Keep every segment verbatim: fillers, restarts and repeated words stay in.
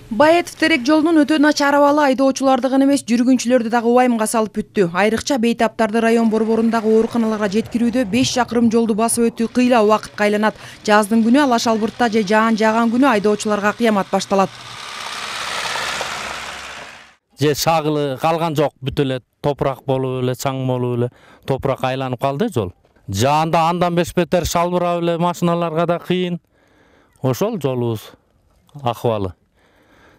Баетов терек жолунун өтө начар абалы айдоочуларды гана эмес, жүргүнчүлөрдү дагы убайымга салып бүттү. Айрыкча бейтаптарды район борборундагы ооруканаларга жеткирүүдө беш чакырым жолду басып өтүү кыйла убакытка айланат. Жаздын күнү алаш албыртта же жаан жааган күнү айдоочуларга кыямат башталат. Же шагылы калган жок, бүт эле топурак болуп эле, чаң болуп эле, топурак айланып калды жол. Жаанда андан беш бетер шалбырап эле машиналарга да кыйын. Ошол жолубуз акыбалы.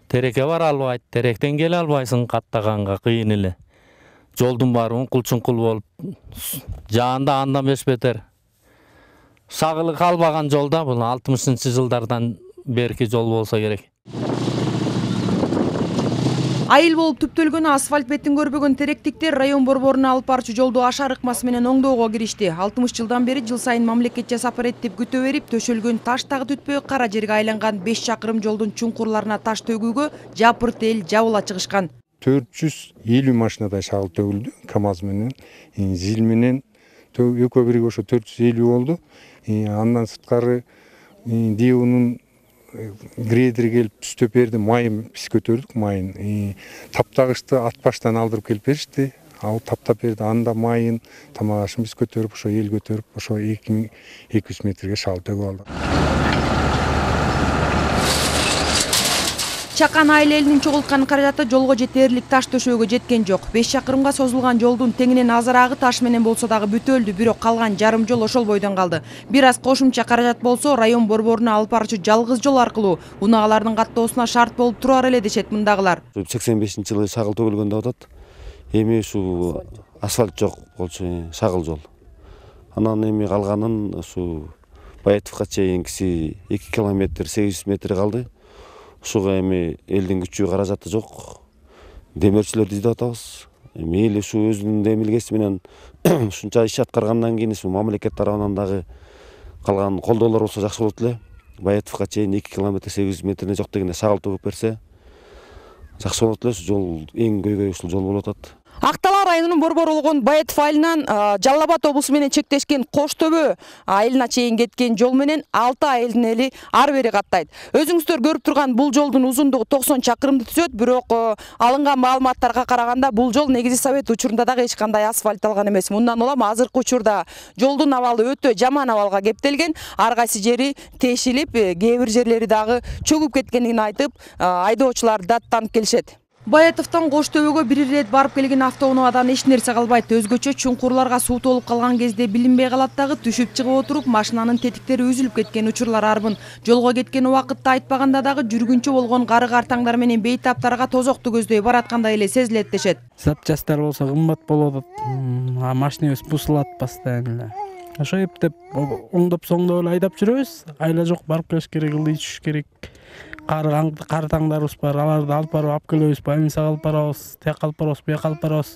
Терекке бара албайт, теректен келе албайсың, каттаганга кыйын эле. Жолдун баары уңкул-чуңкул болуп, жаанда андан беш бетер. Шагылы калбаган жолда, бул алтымышынчы жылдардан берки жол болсо керек. Айыл болуп түптөлгөнү асфальт бетин көрбөгөн теректиктер район борборуна алып барчу жолду ашар ыкмасы менен оңдоого киришти. алтымыш жылдан бери жыл сайын мамлекет жасап берет деп күтө берип, төшөлгөн таш дагы түтпөй кара жерге айланган беш чакырым жолдун чуңкурларына таш төгүүгө жапырт эл жабыла чыгышкан. төрт жүз элүү машинадай шагыл төгүлдү, КАМАЗ менен, ЗИЛ менен экөө бирге ошо төрт жүз элүү болду. Андан сырткары ДИУнун грейдер келип түзтөп берди, майын биз көтөрдүк, майын. Таптагычты ат баштан алдырып келип беришти. Ал таптап берди, анда майын, тамак ашын биз көтөрүп, ошо эл көтөрүп, ошо эки миң эки жүз метрге шагыл төгүп алдык. Чакан айыл элинин чогулткан каражаты жолго жетерлик таш төшөөгө жеткен жок. беш чакырымга созулган жолдун теңинен азыраагы таш менен болсо дагы бүтөлдү, бирок калган жарым жол ошол бойдон калды. Бир аз кошумча каражат болсо, район борборуна алып барчу жалгыз жол аркылуу унаалардын каттоосуна шарт болуп турар эле дешет мындагылар. сексен бешинчи жылы шагыл төгүлгөн деп атат. Эми ушу асфальт жок болчу, шагыл жол. Анан эми калганын ушу Баетовго чейинкиси эки километр сегиз жүз метр калды. Ушуга эми элдин күчү каражаты жок. Демирчилерди издеп атабыз. Мейли ушу өзүнүн демилгеси менен ушунча иш аткаргандан кийин ушу мамлекет тарабынан дагы калган колдоолор болсо жакшы болот эле. Баетовго чейин эки километр сегиз жүз метрине жок дегенде шагыл төгүп берсе жакшы болот эле. Ушу жол эң көйгөй ушул жол болуп атат. Ак Талаа районунун борбору болгон Баетов айылынан Жалал Абад облусу менен чектешкен Кош Төбө айылына чейин кеткен жол менен алты айылдын эли ары бери каттайт. Өзүңүздөр көрүп турган бул жолдун узундугу токсон чакырымды түзөт, бирок алынган маалыматтарга караганда бул жол негизи Совет учурунда дагы эч кандай асфальтталган эмес. Мындан улам азыркы учурда жолдун абалы өтө жаман абалга кептелген. Ар кайсы жери тешилип, кээ бир жерлери дагы чөгүп кеткенин айтып, айдоочулар даттанып келишет. Баетовдон Кош Төбөгө бир ирет барып келген автоунаадан эч нерсе калбайт. Өзгөчө чуңкурларга суу толуп калган кезде билинбей калат дагы, түшүп чыгып отуруп машинанын тетиктери үзүлүп кеткен учурлар арбын. Жолго кеткен убакытта айтпаганда дагы жүргүнчү болгон кары картаңдар менен бейтаптарга тозокту көздөй бараткандай эле сезилет дешет. Запчасттар болсо кымбат болот, а машинебиз бузулат постоянно эле. Ошо эптеп оңдоп соңдоп эле айдап жүрөбүз. Айла жок, барып келиш керек, ылдый түшүш керек. Кары таңдарыбыз бар, аларды алып барып алып келебиз, больницага алып барабыз, тияк алып барабыз, буяк алып барабыз.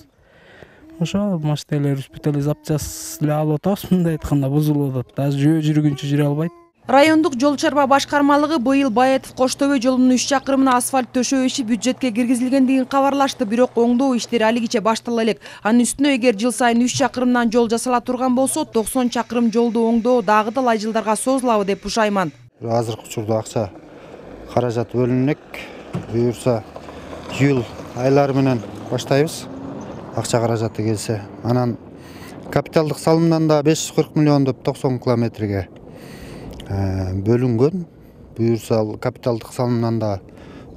Ошо машиналарыбыз бүт эле запчас эле алып атабыз, мындай айтканда бузулуп атат. Даже жөө жүргүнчү жүрө албайт. Райондук жол чарба башкармалыгы быйыл Баетов Кош Төбө жолунун үч чакырымына асфальт төшөө иши бюджетке киргизилгендигин кабарлашты, бирок оңдоо иштери алигиче баштала элек. Анын үстүнө эгер жыл сайын үч чакырымдан жол жасала турган болсо, токсон чакырым жолду оңдоо дагы талай жылдарга созулабы деп пушайман. Азыркы учурда акча каражат бөлүнөк, буюрса июль айлары менен баштайбыз. Акча каражаты келсе, анан капиталдык салымдан да беш жүз кырк миллион деп токсон километрге бөлүнгөн. Буюрса капиталдык салымдан да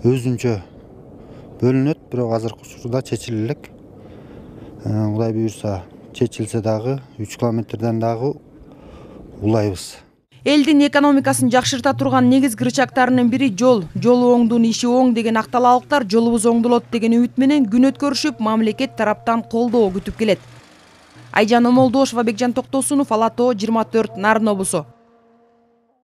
өзүнчө бөлүнөт, бирок азыркы учурда чечиле элек. Кудай буюрса чечилсе дагы үч километрден дагы улайбыз. Элдин экономикасын жакшырта турган негизги рычагтарынын бири жол. Жолу оңдун иши оң деген ак талаалыктар жолубуз оңдолот деген үмүт менен күн өткөрүшүп, мамлекет тараптан колдоо күтүп келет. Айжан Омолдошова, Бекжан Токтосунов, Ала тоо жыйырма төрт, Нарын облусу.